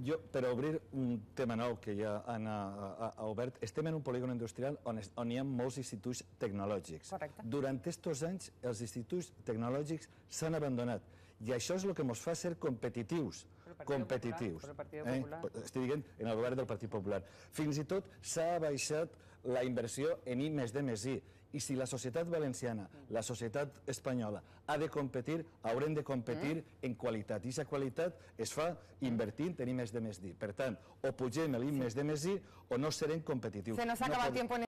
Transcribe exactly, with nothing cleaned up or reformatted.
Jo, per obrir un tema nou que ja ha obert, estem en un polígon industrial on hi ha molts instituts tecnològics. Durant aquests anys, els instituts tecnològics s'han abandonat i això és el que ens fa ser competitius. Competitius. Estic dient en el govern del Partit Popular. Fins i tot s'ha baixat la inversió en I més D més I. I si la societat valenciana, la societat espanyola, ha de competir, haurem de competir en qualitat. I aquesta qualitat es fa invertint en I més D més I. Per tant, o pugem l'I més D més I o no serem competitius. Se nos acaba el tiempo.